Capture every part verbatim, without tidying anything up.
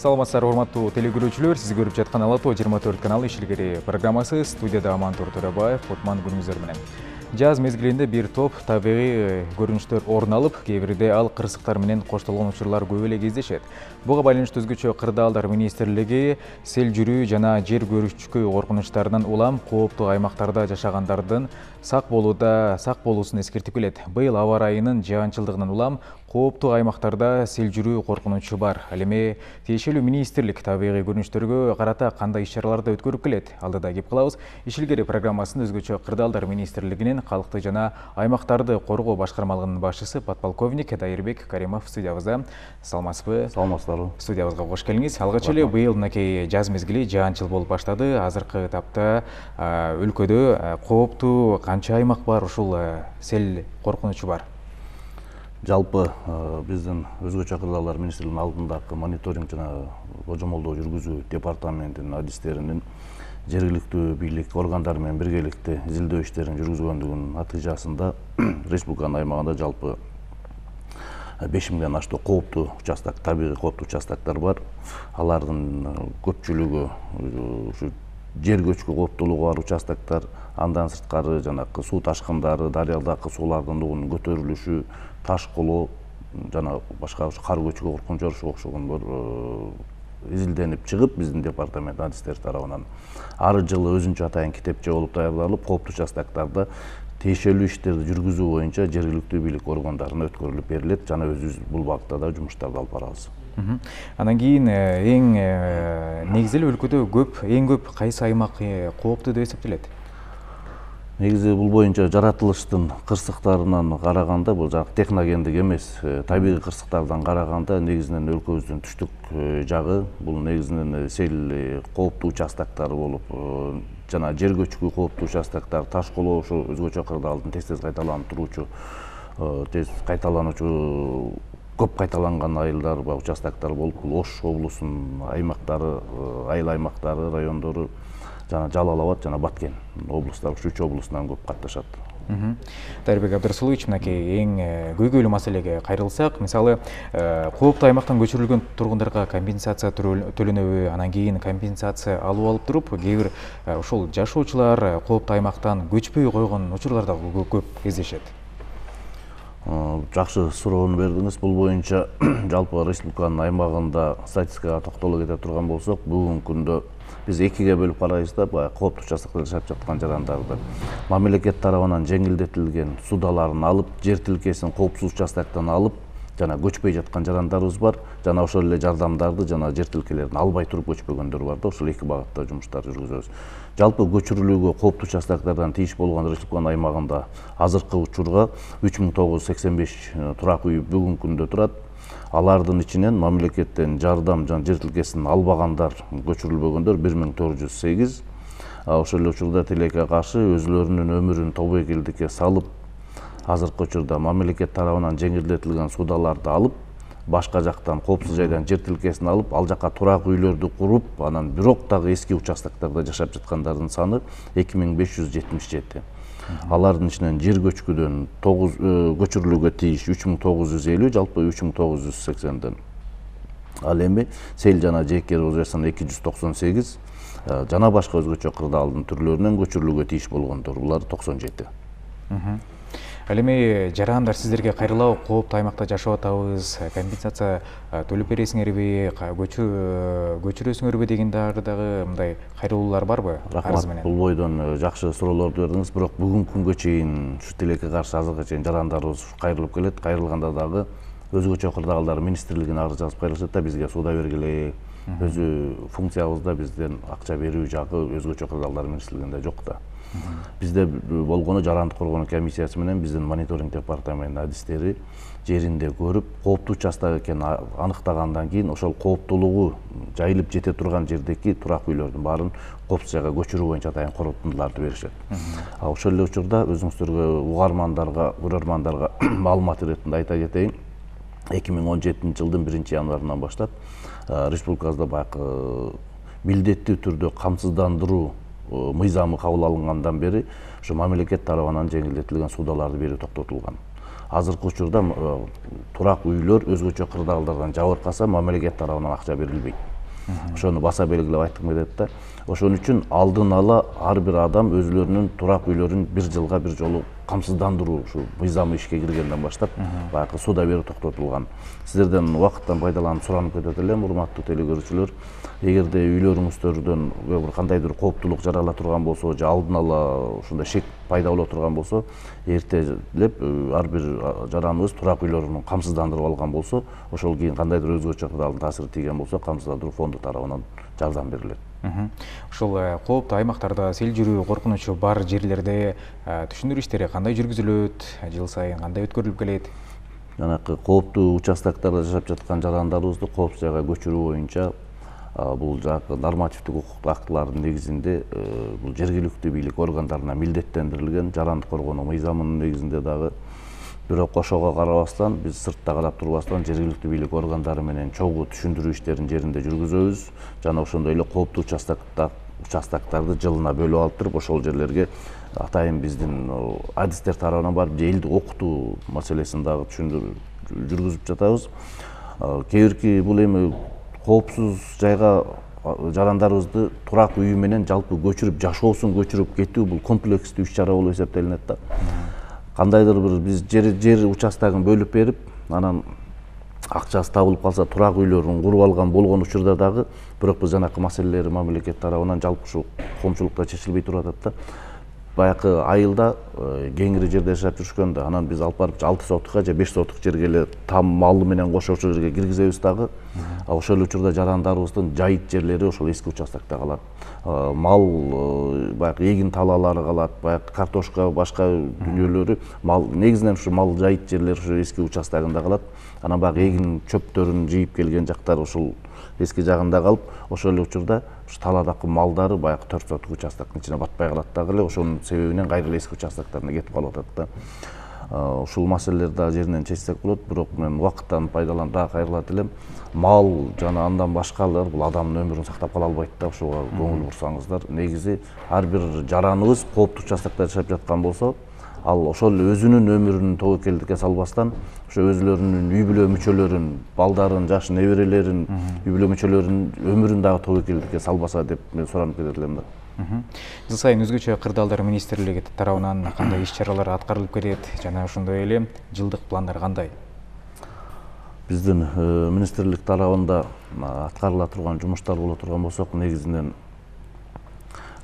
Саламатсыздар, урматтуу телекөрүүчүлөр. Сиз көрүп жаткан Ала тоо жыйырма төрт каналы ишилгери программасы. Студияда Амантур Төрөбаев, Кутман күнүңүздөр менен. Жаз мезгилинде бир топ табигый көрүнүштөр орун алып, кээ бирде ал кырсыктар менен коштолгон учурлар көп эле кездешет. Буга байланыштуу өзгөчө Кырдаалдар министрлиги сел жүрүү жана жер көрүшкү коркунучтарынан улам кооптуу аймактарда жашагандардын сак болууда сак болуусун эскертип келет. Быйыл аба ырайынын жаанчылдыгынан улам кооптуу аймактарда сел жүрүү коркунучу бар. Ал эми тиешелүү министрлик табигый көрүнүштөргө карата кандай иш-чараларды өткөрүп келет? Алдыда кеп калабыз. Ишилгери программасында өзгөчө Кырдаалдар министрлигинин калкты жана аймактарды коргоо башкармалыгынын башчысы подполковник Дайырбек Каримов студиябызда. Саламатсызбы? Саламатсыздарбы? Студиябызга кош келиңиз. Алгач эле быйыл мынакей жаз мезгили жаанчыл болуп баштады. Азыркы этапта өлкөдө кооптуу канча аймак бар, ушул сел коркунучу бар? Жалпы биздин өзгөчө Кырдаалдар министрлигинин алдындагы мониторинг жана божомолдоо жүргүзүү департаментинин адистеринин жергиликтүү бийлик органдары менен биргеликте изилдөө иштерин жүргүзгөндүгүнүн натыйжасында республиканын аймагында жалпы беш миңден аштуу кооптуу участок, табигый кооптуу участоктор бар. Алардын көпчүлүгү ушу жер көчкү кооптуулугу бар участоктор, андан сырткары жанагы суу ташкындары, дарыядагы суулардын дугунун көтөрүлүшү, таш колоо жана башка кар көчкү коркунучу ошого окшогондор изилденип чыгып, биздин департамент адистери тарабынан ар жылы өзүнчө атайын китепче болуп даярдалып, кооптуу участоктордо тиешелүү иштерди жүргүзүү боюнча жергиликтүү бийлик органдарына өткөрүлүп берилет жана өзүбүз бул багытта да жумуштарды алып барабыз. Анан кийин эң негизи эле өлкөдө көп, эң көп кайсы аймак кооптуу деп эсептелет? Негизи бул боюнча жаратылыштын кырсыктарынан караганда, бул жак техногендик эмес, табигый кырсыктардан караганда негизинен өлкөбүздүн түштүк жагы бул негизинен сел кооптуу участоктор болуп, жана жер көчкү кооптуу участоктор, таш колоо ошо өзгөчө Кырдаалдын тез-тез кайталанып туруучу, тез кайталануучу көп кайталанган айылдар ба участоктор болуп, бул Ош облусунун аймактары, айыл аймактары, райондору жана Жалал Абад жана Баткен облустары, ушу үч облустан көп катташат. Дайырбек Абдрасулович, мынакей эң көйгөйлүү маселеге кайрылсак, мисалы, кооптуу аймактан көчүрүлгөн тургундарга компенсация төлөнөбү, анан кийин компенсация алып алып туруп, кээ бир ушул жашоочулар кооптуу аймактан көчпөй койгон учурлар да көп кездешет. Жакшы суроону бердиңиз. Бул боюнча жалпы республиканын аймагында статистикага токтоло кете турган болсок, бүгүнкү күндө биз экиге бөлүп карайбыз да, баягы кооптуу участоктордо жашап жаткан жарандарды. Мамлекет тарабынан жеңилдетилген судаларын алып, жер тилкесин коопсуз участоктон алып, жана көчпөй жаткан жарандарыбыз бар, жана ошол эле жардамдарды жана жер тилкелерин албай туруп көчпөгөндөр бар да, ошол эки багытта жумуштар жүргүзөбүз. Жалпы көчүрүлүүгө кооптуу участоктордон тийиш болгон республиканын аймагында азыркы учурга үч миң тогуз жүз сексен беш турак үй бүгүнкү күндө турат. Алардын ичинен мамлекеттен жардам жана жер тилкесин албагандар, көчүрүлбөгөндөр бир миң төрт жүз сегиз. Ошол эле учурда тилекке каршы өзүлөрүнүн өмүрүн тобойкелдикке салып, азыркы учурда мамлекет тарабынан жеңилдетилген судаларды алып, башка жактан коопсуз жайдан жер тилкесин алып, ал жака турак үйлөрдү куруп, анан бирок дагы эски участоктордо жашап жаткандардын саны эки миң беш жүз жетимиш жети. Алардын ичинен жер көчкүдөн көчүрүлүүгө тийиш үч миң тогуз жүз элүү, жалпы үч миң тогуз жүз сексенден. Ал эми сел жана жеке эрозиясынан эки жүз токсон сегиз, жана башка өзгөчө Кырдаалдын түрлөрүнөн көчүрүлүүгө тийиш болгондор, булар токсон жети. Ал эми жарандар сиздерге кайрылабы, кооптуу аймакта жашап атабыз, компенсация төлөп бересиңерби, көчүрөсүңөрбү деген дагы мындай кайрылуулар барбы? Рахмат, бул бойдон жакшы суроолорду бердиңиз. Бирок бүгүнкү күнгө чейин ушу тилекке каршы азыркы чейин жарандарыбыз кайрылып келет. Кайрылганда дагы өзгөчө Кырдаалдар министрлигине арыз жазып кайрылышат да, бизге суда бергиле. Өзү функциябызда бизден акча берүү жагы өзгөчө Кырдаалдар министрлигинде жок да. Бизде болгону жарандык коргонуу комиссиясы менен биздин мониторинг департаментинин адистери жеринде көрүп, кооптуу участок экенин аныктагандан кийин ошол кооптуулугу жайылып жете турган жердеги турак үйлөрдүн баарын коопсуз жайга көчүрүү боюнча атайын корутундуларды беришет. Ошол эле учурда өзүңүздөргө, угармандарга, көрөрмандарга маалымат иретинде айта кетейин. эки миң он жетинчи жылдын биринчи январынан баштап республикабызда баягы милдеттүү түрдө камсыздандыруу мыйзамы кабыл алынгандан бери ушу мамлекет тарабынан жеңилдетилген судаларды берүү токтотулган. Азыркы учурда турак үйлөр өзгөчө Кырдаалдардан жабыркаса мамлекет тарабынан акча берилбейт. ошону баса белгилеп айткым келет да. Ошон үчүн алдын ала ар бир адам өзлөрүнүн турак үйлөрүн бир жылга бир жолу камсыздандыруу ушу мыйзамы ишке киргенден баштап баягы суда берүү токтотулган. Сиздерден убакыттан пайдаланып суранып кетет элем, урматтуу телекөрүүчүлөр. Эгерде үйлөрүңүздөрдөн бир кандайдыр кооптулук жарала турган болсо, же алдын ала ушундай шек пайда боло турган болсо, эртелеп ар бир жараныбыз турак үйлөрүн камсыздандырып алган болсо, ошол кийин кандайдыр өзгөчө кырдаалдын таасири тийген болсо, камсыздандыруу фонду тарабынан жардам берилет. Ошол кооптуу аймактарда сел жүрүү коркунучу бар жерлерде түшүндүрүү иштери кандай жүргүзүлөт, жыл сайын кандай өткөрүлүп келет? Жанакы кооптуу участоктарда жашап жаткан жарандарыбызды коопсуз жайга көчүрүү боюнча бул жанакы нормативдик укуктук актылардын негизинде бул жергиликтүү бийлик органдарына милдеттендирилген, жарандык коргонуу мыйзамынын негизинде дагы. Бирок ошого карабастан биз сыртта карап турбастан жергиликтүү бийлик органдары менен чогуу түшүндүрүү иштерин жеринде жүргүзөбүз. Жана ошондой эле кооптуу участоктарды жылына бөлүп алып туруп, ошол жерлерге атайын биздин адистер тарабынан барып элди окутуу маселесин дагы түшүндүрүп жүргүзүп жатабыз. Кээ бирки бул эми коопсуз жайга жарандарыбызды турак үйү менен жалпы көчүрүп, жашоосун көчүрүп кетүү бул комплекстүү иш чара болуп эсептелинет да. Кандайдыр бир биз жер жер участогун бөлүп берип, анан акчасы табылып калса турак үйлөрүн куруп алган болгон учурда дагы, бирок биз жанакы маселелер мамлекет тарабынан жалпы ушу коомчулукта чечилбей туруп атат да. Баягы айылда кеңири жерде жашап жүрүшкөндө, анан биз алып барып алты сотукка же беш сотук жерге эле там малы менен кошо ошол жерге киргизебиз дагы. Ошол учурда жарандарыбыздын жайыт жерлери ошол эски участокто калат. Мал баягы эгин талаалары калат, баягы картошка, башка дүнүйөлөрү, мал негизинен ушу мал жайыт жерлер ушу эски участогунда калат. Анан баягы эгин чөптөрүн жыйып келген жактар ушул эски жагында калып, ошол эле учурда ушу таладагы малдары баягы төрт сотук участоктун ичине батпай калат дагы эле, ошонун себебинен кайра эле эски участокторуна кетип калып атат да. Ушул маселелер дагы жеринен чечсек болот, бирок мен убакыттан пайдаланып дагы кайрылат элем. Мал жана андан башкалар бул адамдын өмүрүн сактап кала албайт да, ошого көңүл бурсаңыздар. Негизи ар бир жараныбыз кооптуу участокто жашап жаткан болсо, ал ошол өзүнүн өмүрүн тобокелдикке салбастан, ошо өзлөрүнүн үй бүлө мүчөлөрүн, балдарын, жаш неберелерин, үй бүлө мүчөлөрүнүн өмүрүн дагы тобокелдикке салбаса деп мен суранып кетет элем да. Жыл сайын өзгөчө кырдаалдар министрлиги тарабынан кандай иш чаралар аткарылып келет жана ошондой эле жылдык пландар кандай? Биздин министрлик тарабында аткарыла турган жумуштар боло турган болсок, негизинен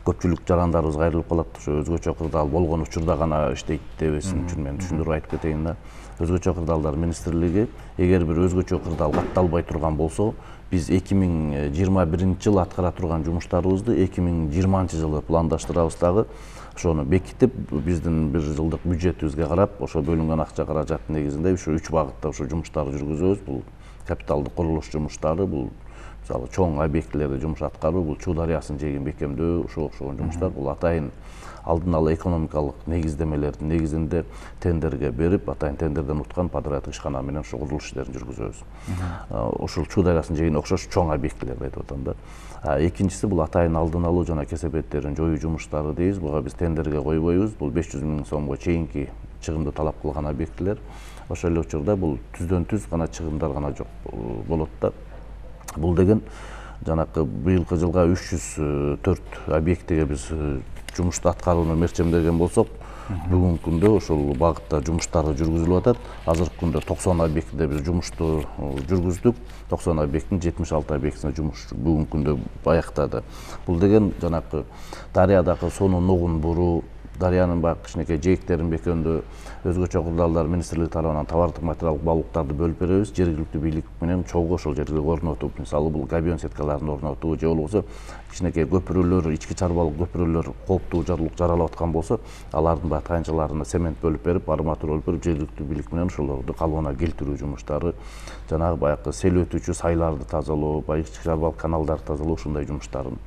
көпчүлүк жарандарыбыз кайрылып калат. Ошо өзгөчө кырдаал болгон учурда гана иштейт дебесин үчүн мен түшүндүрүп айтып кетейин да. Өзгөчө кырдаалдар министрлиги эгер бир өзгөчө кырдаал катталбай турган болсо, биз эки миң жыйырма биринчи жылы аткара турган жумуштарыбызды эки миң жыйырманчы жылы пландаштырабыз дагы. Ошону бекитип, биздин бир жылдык бюджетибизге карап, ошо бөлүнгөн акча каражаттын негизинде ушу үч багытта ушу жумуштарды жүргүзөбүз. Бул капиталдык курулуш жумуштары, бул мисалы чоң объектилерде жумуш аткаруу, бул Чуу дарыясын жээгин бекемдөө, ошо окшогон жумуштар. Бул атайын алдын ала экономикалык негиздемелердин негизинде тендерге берип, атайын тендерден уткан подряддык ишкана менен ошо курулуш иштерин жүргүзөбүз. Ошол Чуу дарыясын жээгине окшош чоң объектилерди айтып атам да. Экинчиси бул атайын алдын алуу жана кесепеттерин жоюу жумуштары дейбиз. Буга биз тендерге койбойбуз. Бул беш жүз миң сомго чейинки чыгымды талап кылган объектилер. Ошол эле учурда бул түздөн түз гана чыгымдар гана жок болот да. Бул деген жанакы быйылкы жылга үч жүз төрт объектиге биз жумушту аткарууну мерчемдеген болсок, бүгүнкү күндө ошол багытта жумуштары жүргүзүлүп атат. Азыркы күндө токсон объектиде биз жумушту жүргүздүк. токсон объекттин жетимиш алты объектисине жумуш бүгүнкү күндө аяктады. Бул деген жанакы дарыядагы сонун нугун буруу, дарыянын баягы кичинекей жээктерин бекемдөө, өзгөчө кырдаалдар министрлиги тарабынан товардык материалдык баалуулуктарды бөлүп беребиз. Жергиликтүү бийлик менен чогуу ошол жерге орнотуп, мисалы бул габион сеткаларын орнотуу же болбосо кичинекей көпүрөлөр, ички чарбалык көпүрөлөр кооптуу жарылык жаралап аткан болсо, алардын баягы тайынчаларына цемент бөлүп берип, арматура бөлүп берип, жергиликтүү бийлик менен ошолорду калыбына келтирүү жумуштары, жанагы баягы сел өтүүчү сайларды тазалоо, баягы ички чарбалык каналдарды тазалоо, ушундай жумуштарын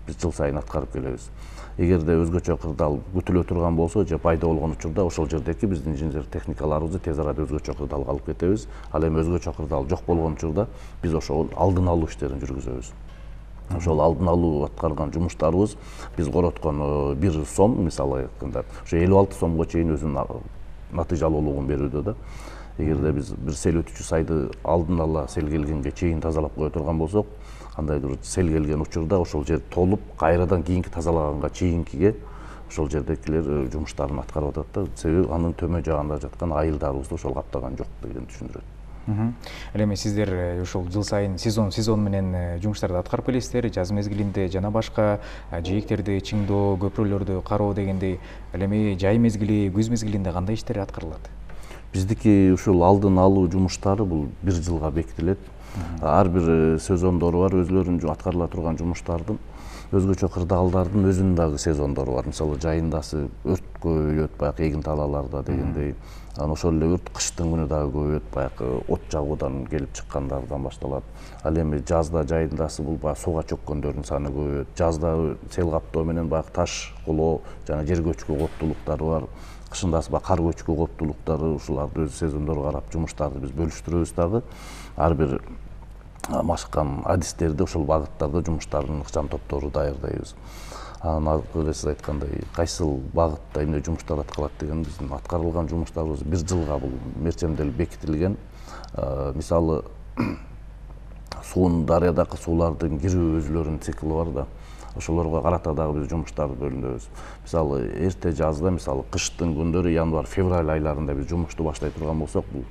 биз жыл сайын аткарып келебиз. Эгерде өзгөчө кырдаал күтүлө турган болсо же пайда болгон учурда ошол жердеки биздин инженер техникаларыбызды тез арада өзгөчө кырдаалга алып кетебиз. Ал эми өзгөчө кырдаал жок болгон учурда биз ошол алдын алуу иштерин жүргүзөбүз. Ошол алдын алуу аткарган жумуштарыбыз биз короткон бир сом, мисалы айтканда, ошо элүү алты сомго чейин өзүнүн натыйжалуулугун берүүдө да. Эгерде биз бир сел өтүүчү сайды алдын ала сел келгенге чейин тазалап кое турган болсок, кандайдыр сел келген учурда ошол жер толуп кайрадан кийинки тазалаганга чейинкиге ошол жердегилер жумуштарын аткарып атат да. Себеби анын төмөн жагында жаткан айылдарыбызды ошол каптаган жок деген түшүндүрөт. Ал эми сиздер ушул жыл сайын сезон сезон менен жумуштарды аткарып келесиздер, жаз мезгилинде жана башка жээктерди чыңдоо, көпүрөлөрдү кароо дегендей. Ал эми жай мезгили, күз мезгилинде кандай иштер аткарылат? Биздики ушул алдын алуу жумуштары бул бир жылга бекитилет. Ар бир сезондору бар, өзлөрүнүн аткарыла турган жумуштардын өзгөчө кырдаалдардын өзүнүн дагы сезондору бар. Мисалы жайындасы өрт көбөйөт, баягы эгин талааларда дегендей. Анан ошол эле өрт кыштын күнү дагы көбөйөт, баягы от жагуудан келип чыккандардан башталат. Ал эми жазда жайындасы бул баягы сууга чөккөндөрдүн саны көбөйөт. Жазда сел каптоо менен баягы таш колоо жана жер көчкү коптулуктары бар. Кышындасы баягы кар көчкү коптулуктары, ушуларды өз сезондору карап жумуштарды биз бөлүштүрөбүз дагы. Ар бир машыккан адистерди ошол багыттарда жумуштардын ыкчам топтору даярдайбыз. Анан сиз айткандай кайсыл багытта эмне жумуштар аткарылат деген биздин аткарылган жумуштарыбыз бир жылга бул мерчемделип бекитилген. Мисалы суунун дарыядагы суулардын кирүү өзүлөрүнүн циклы бар да. Ошолорго карата дагы биз жумуштарды бөлүнөбүз. Мисалы эрте жазда, мисалы кыштын күндөрү январь февраль айларында биз жумушту баштай турган болсок, бул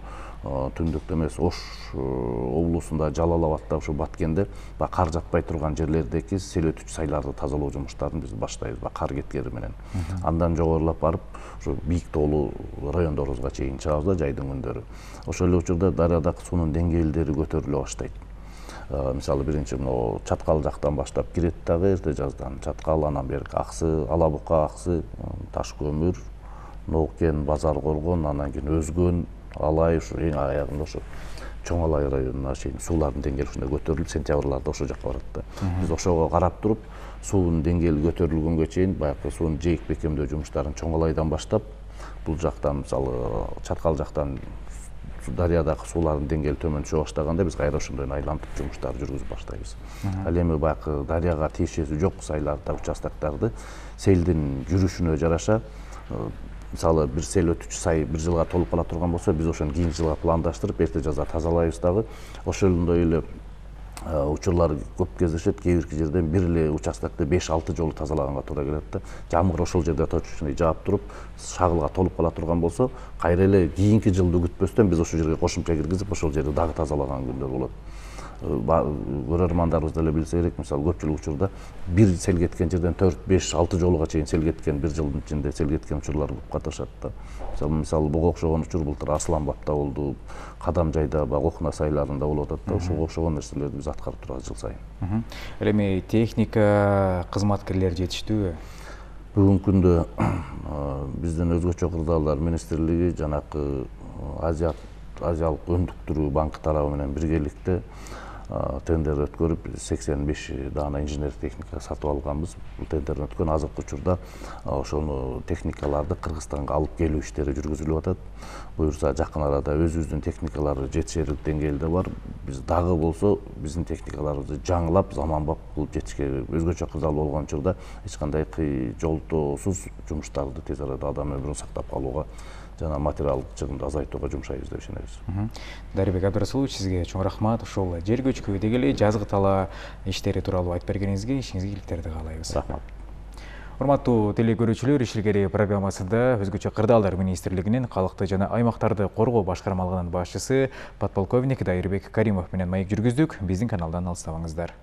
түндүктө эмес Ош облусунда Жалал Абадда ушу Баткенде кар жатпай турган жерлердеги сел өтүч сайларды тазалоо жумуштарын биз баштайбыз, кар кеткени менен. Андан жогорулап барып, ушу бийик тоолуу райондорубузга чейин чыгабыз да жайдын күндөрү. Ошол эле учурда дарыядагы суунун деңгээлдери көтөрүлө баштайт. Мисалы биринчи мына Чаткал жактан баштап кирет дагы эрте жаздан. Чаткал, анан бери Аксы, Ала Бука, Аксы, Таш көмүр, Ноокен, Базар Коргон, анан кийин Өзгөн, Алай, ушу эң аягында ошо Чоң Алай районуна чейин суулардын деңгээли ушундай көтөрүлүп, сентябрларда ошол жакка барат да. Биз ошого карап туруп, суунун деңгээли көтөрүлгөнгө чейин баягы суунун жээк бекемдөө жумуштарын Чоң Алайдан баштап, бул жактан мисалы Чаткал жактан дарыядагы суулардын деңгээли төмөн түшө баштаганда биз кайра ошондой айлантып жумуштарды жүргүзүп баштайбыз. Ал эми баягы дарыяга тиешеси жок сайларды, участоктарды селдин жүрүшүнө жараша, мисалы бир сел өтүч сай бир жылга толуп кала турган болсо, биз ошону кийинки жылга пландаштырып, эрте жазда тазалайбыз дагы. Ошондой эле учурлар көп кездешет. Кээ бирки жерден бир эле участокты беш алты жолу тазалаганга туура келет да. Жамгыр ошол жерде точечный жаап туруп, шагылга толуп кала турган болсо, кайра эле кийинки жылды күтпөстөн биз ошол жерге кошумча киргизип, ошол жерди дагы тазалаган күндөр болот. Көрөрмандарыбыз деле билсе керек, мисалы көпчүлүк учурда бир сел кеткен жерден төрт, беш, алты жолуга чейин сел кеткен, бир жылдын ичинде сел кеткен учурлар көп катышат да. Мисалы, мисалы буга окшогон учур былтыр Арсланбапта болду, Кадамжайда, Окуна сайларында болуп атат да. Ошого окшогон нерселерди биз аткарып турабыз жыл сайын. Ал эми техника, кызматкерлер жетиштүүбү? Бүгүнкү күндө биздин өзгөчө кырдаалдар министрлиги жанакы Азиялык өндүктүрүү банкы тарабы менен биргеликте тендер өткөрүп сексен беш даана инженер техника сатып алганбыз. Бул тендер өткөн азыркы учурда ошону техникаларды Кыргызстанга алып келүү иштери жүргүзүлүп атат. Буюрса жакын арада өзүбүздүн техникалар жетишерлик деңгээлде бар. Биз дагы болсо биздин техникаларыбызды жаңылап, заманбап кылып жетишке, өзгөчө кырдаал болгон учурда эч кандай жолтоосуз жумуштарды тез арада адам өмүрүн сактап калууга жана материалдык чыгымды азайтууга жумшайбыз деп ишенебиз. Дарыбек Абдрасулович, сизге чоң рахмат. Ошол жер көчкү деги эле жазгы талаа иштери тууралуу айтып бергениңизге ишиңизге ийгиликтерди каалайбыз. Рахмат. Урматтуу телекөрүүчүлөр, Иш илгери программасында өзгөчө кырдаалдар министрлигинин калкты жана аймактарды коргоо башкармалыгынын башчысы подполковник Дайырбек Каримов менен маек жүргүздүк. Биздин каналдан алыстабаңыздар.